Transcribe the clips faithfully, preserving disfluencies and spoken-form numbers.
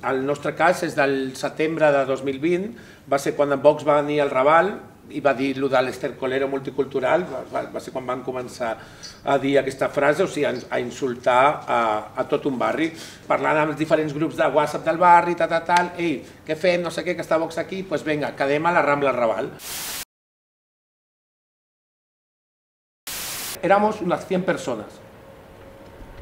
el nostre cas és del setembre de dos mil vint, va ser quan en Vox va venir al Raval i va dir allò de l'estercolero multicultural, va ser quan van començar a dir aquesta frase, o sigui, a insultar a tot un barri, parlant amb els diferents grups de WhatsApp del barri, tal, tal, tal, ei, què fem, no sé què, que està Vox aquí, doncs vinga, quedem a la Rambla Raval. Éramos unes cent persones.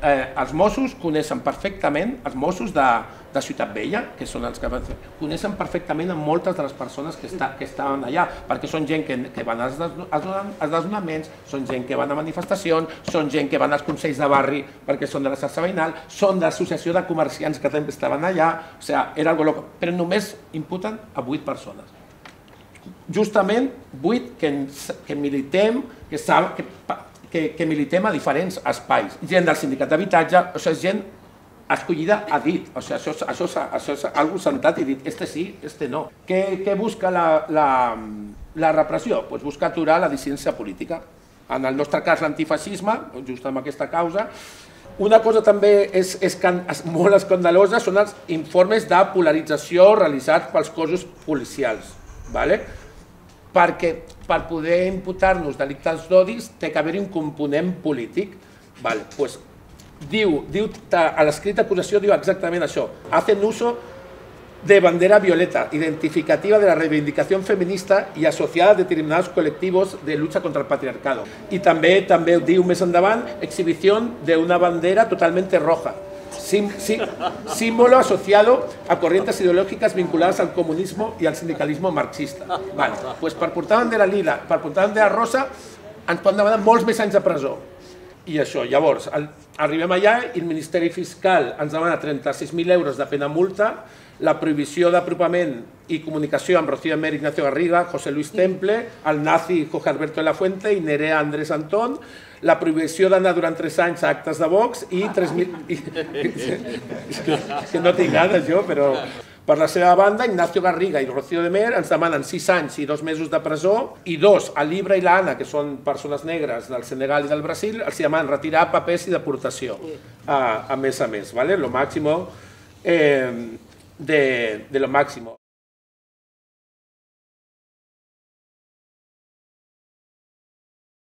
Els Mossos coneixen perfectament, els Mossos de Ciutat Vella, que són els que van fer, coneixen perfectament a moltes de les persones que estaven allà, perquè són gent que van als desnonaments, són gent que van a manifestacions, són gent que van als consells de barri perquè són de la xarxa veïnal, són de l'associació de comerciants que també estaven allà, o sigui, era algo loco, però només imputen a vuit persones. Justament vuit que militem, que saben... que militem a diferents espais. Gent del sindicat d'habitatge, això és gent escollida a dit, això és algú sentat i dit, este sí, este no. Què busca la repressió? Doncs busca aturar la dissidència política. En el nostre cas l'antifeixisme, just amb aquesta causa. Una cosa també és molt escandalosa són els informes de polarització realitzats pels cossos policials. Perquè per poder imputar-nos delictes d'odis té que haver-hi un component polític. Diu, a l'escrit d'acusació diu exactament això. Hacen uso de bandera violeta, identificativa de la reivindicación feminista y asociada a determinados colectivos de lucha contra el patriarcado. Y també també diu més endavant, exhibición de una bandera totalmente roja. Símbolo asociado a corrientes ideológicas vinculadas al comunismo y al sindicalismo marxista. Doncs per portar bandera lila, per portar bandera rosa, ens poden demanar molts més anys de presó. I això, llavors, arribem allà i el Ministeri Fiscal ens demana trenta-sis mil euros de pena multa, la prohibició d'apropament i comunicació amb Rocío Amer, Ignacio Garriga, José Luis Temple, el nazi Jorge Alberto de la Fuente i Nerea Andrés Antón, la prohibició d'anar durant tres anys a actes de Vox i tres mil... que no tinc ganes jo, però... Per la seva banda, Ignacio Garriga i Rocío Amer ens demanen sis anys i dos mesos de presó i dos, a l'Ibra i l'Anna, que són persones negres del Senegal i del Brasil, els demanen retirar papers i deportació, a més a més, lo màximo de lo máximo.